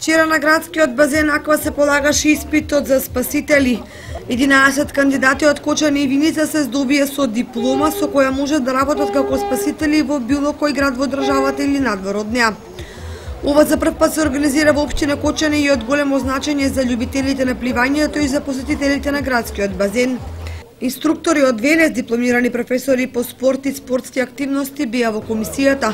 Вчера на градскиот базен Аква се полагаше испитот за спасители. 11 кандидати од Кочани и Виница се здобија со диплома со која можат да работат како спасители во било кој град во државата или надвор од неа. Ова за прв пат се организира во општина Кочани и од големо значење за љубителите на пливањето и за посетителите на градскиот базен. Инструктори од Велес, дипломирани професори по спорт и спортски активности беа во комисијата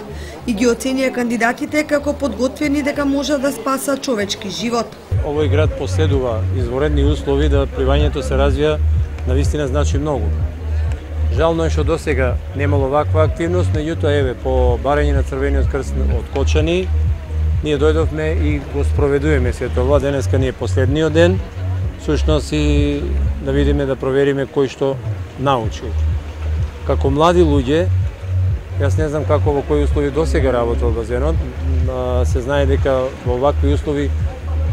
и ги оценија кандидатите како подготвени дека можат да спасат човечки живот. Овој град поседува изворедни услови да пливањето се развија, навистина значи многу. Жално е што досега немало ваква активност, меѓутоа еве по барање на Црвениот крст од Кочани ние дојдовме и го спроведуваме сето ова. Денеска ни е последниот ден. Сушност и да видиме, да провериме кој што научи. Како млади луѓе, јас не знам како во кои услови досега работел базенот, се знае дека во вакви услови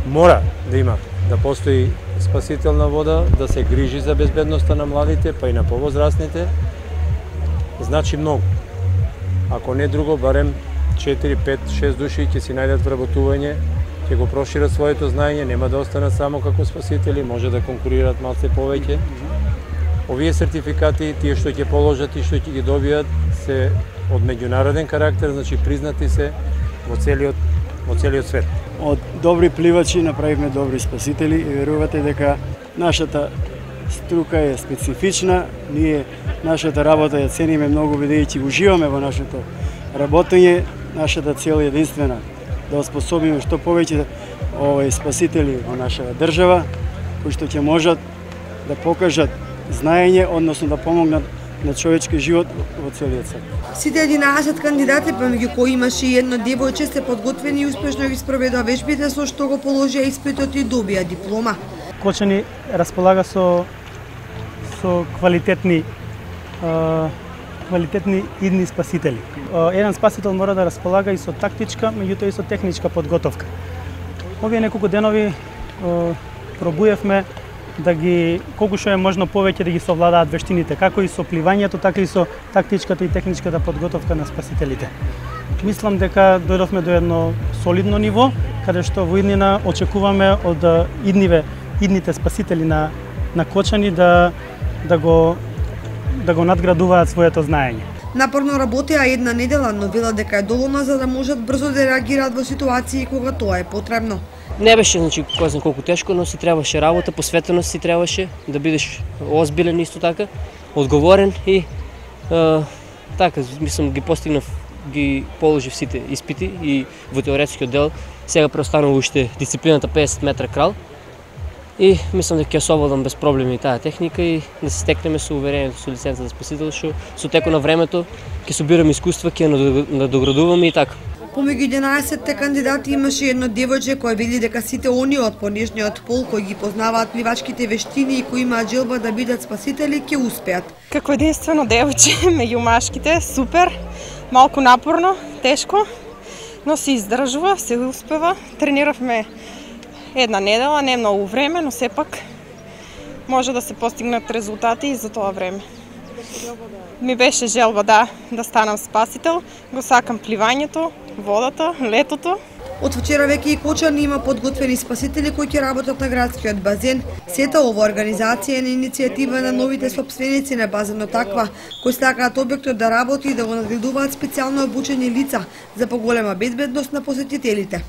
мора да има, да постои спасителна вода, да се грижи за безбедноста на младите, па и на повозрастните. Значи многу. Ако не друго, барем 4, 5, 6 души ќе си најдат вработување, ќе го прошират своето знаење, нема да останат само како спасители, може да конкурираат малце повеќе. Овие сертификати, тие што ќе положат и што ќе ги добијат, се од меѓународен карактер, значи признати се во целиот свет. Од добри пливачи направивме добри спасители и верувате дека нашата струка е специфична, ние нашата работа ја цениме многу бидејќи уживаме во нашето работење, нашата цел е единствена да оспособиме што повеќе спасители во нашата држава, кои што ќе можат да покажат знаење, односно да помогнат на човечки живот во целиот свет. Сите 11 кандидати, помеѓу кои имаше и едно девојче, се подготвени и успешно ги спроведоа вежбите, со што го положија испитот и добија диплома. Кочани располага со квалитетни идни спасители. Еден спасител мора да располага и со тактичка, меѓутоа и со техничка подготовка. Овие неколку денови пробуевме да ги колку што е можно повеќе да ги совладаат вештините, како и со пливањето, така и со тактичката и техничката подготовка на спасителите. Мислам дека дојдовме до едно солидно ниво, каде што во иднина очекуваме од идните спасители на Кочани да го надградуваат своето знаење. Напорно работеа една недела, но велат дека е доволна за да можат брзо да реагираат во ситуации кога тоа е потребно. Не беше, значи, кој знае колку тешко, но си требаше работа, посветеност си требаше, да бидеш озбилен исто така, одговорен и така, мислам, ги положив сите испити и во теоретскиот дел. Сега преостанува уште дисциплината 50 метра крал и мислам дека ќе совладам без проблеми таа техника и да се стекнеме со уверението со лиценца за спасител, што со текот на времето ќе собираме искуства, ќе надоградуваме и така. Помеѓу 11 кандидати имаше едно девојче кој вели дека сите они од понижниот пол кои ги познаваат пливачките вештини и кои имаат желба да бидат спасители ќе успеат. Како единствено девојче меѓу машките, супер, малку напорно, тешко, но се издржува, се успева. Трениравме една недела, не многу време, но сепак може да се постигнат резултати и за тоа време. Ми беше желба да станам спасител, го сакам пливањето, водата, летото. Од вчера веќе и Кочани има подготвени спасители кои ќе работат на градскиот базен. Сета ова организација е на иницијатива на новите сопственици на базенот Аква, кои сакаат објектот да работи и да го надградуваат специјално обучени лица за поголема безбедност на посетителите.